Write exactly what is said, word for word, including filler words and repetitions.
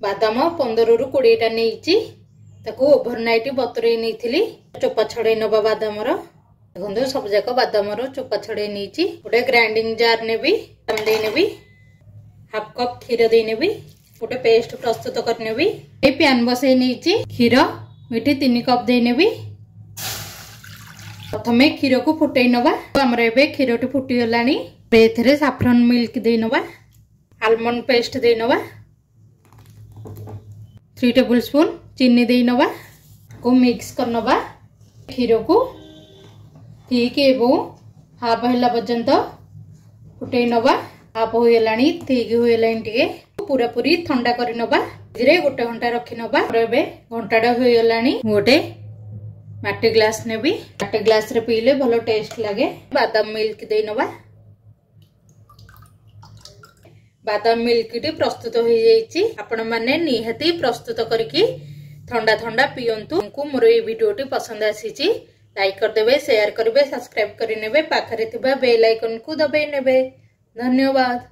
ବାଦାମ ପନ୍ଦରରୁ କୋଡ଼ିଏଟା ନେଇଛି ତାକୁ ଓଭରନାଇଟ୍ ବତୁରେଇ ନେଇଥିଲି ଚୋପା ଛଡ଼େଇ ନେବା ବାଦାମର ଦେଖନ୍ତୁ ସବୁ ଯାକ ବାଦାମର ଚୋପା ଛଡ଼େଇ ନେଇଛି ଗୋଟେ ଗ୍ରାଇଣ୍ଡିଂ ଜାର୍ ନେବି ବାଦାମ ଦେଇ ନେବି ହାଫ୍ କପ୍ କ୍ଷୀର ଦେଇ ନେବି ଗୋଟେ ପେଷ୍ଟ ପ୍ରସ୍ତୁତ କରିନେବି ଏଇ ପ୍ୟାନ୍ ବସେଇ ନେଇଛି କ୍ଷୀର ଏଠି ତିନି କପ୍ ଦେଇ ନେବି ପ୍ରଥମେ କ୍ଷୀରକୁ ଫୁଟେଇ ନେବା ଆମର ଏବେ କ୍ଷୀରଟି ଫୁଟିଗଲାଣି ଏବେ ଏଥିରେ ସାଫ୍ରନ୍ ମିଲ୍କ ଦେଇ ନେବା ଆଲମଣ୍ଡ ପେଷ୍ଟ ଦେଇ ନେବା ଥ୍ରୀ ଟେବୁଲ ସ୍ପୁନ୍ ଚିନି ଦେଇ ନେବା କୁ ମିକ୍ସ କରିନେବା କ୍ଷୀରକୁ ଥିକ୍ ଏବଂ ହାଫ୍ ହେଲା ପର୍ଯ୍ୟନ୍ତ ଫୁଟେଇ ନେବା ହାଫ୍ ହୋଇଗଲାଣି ଥିକ୍ ହୋଇଗଲାଣି ଟିକେ ପୁରାପୁରି ଥଣ୍ଡା କରିନେବା ଏଥିରେ ଗୋଟେ ଘଣ୍ଟା ରଖିନେବା ଏବେ ଘଣ୍ଟାଟା ହୋଇଗଲାଣି ମୁଁ ଗୋଟେ ମାଟି ଗ୍ଲାସ ନେବି ମାଟି ଗ୍ଲାସରେ ପିଇଲେ ଭଲ ଟେଷ୍ଟ ଲାଗେ ବାଦାମ ମିଲ୍କ ଦେଇ ନେବା ବାଦାମ ମିଲ୍କଟି ପ୍ରସ୍ତୁତ ହୋଇଯାଇଛି ଆପଣମାନେ ନିହାତି ପ୍ରସ୍ତୁତ କରିକି ଥଣ୍ଡା ଥଣ୍ଡା ପିଅନ୍ତୁ ମୋର ଏଇ ଭିଡ଼ିଓଟି ପସନ୍ଦ ଆସିଛି ଲାଇକ୍ କରିଦେବେ ସେୟାର କରିବେ ସବସ୍କ୍ରାଇବ କରିନେବେ ପାଖରେ ଥିବା ବେଲ୍ ଆଇକନକୁ ଦବାଇ ନେବେ ଧନ୍ୟବାଦ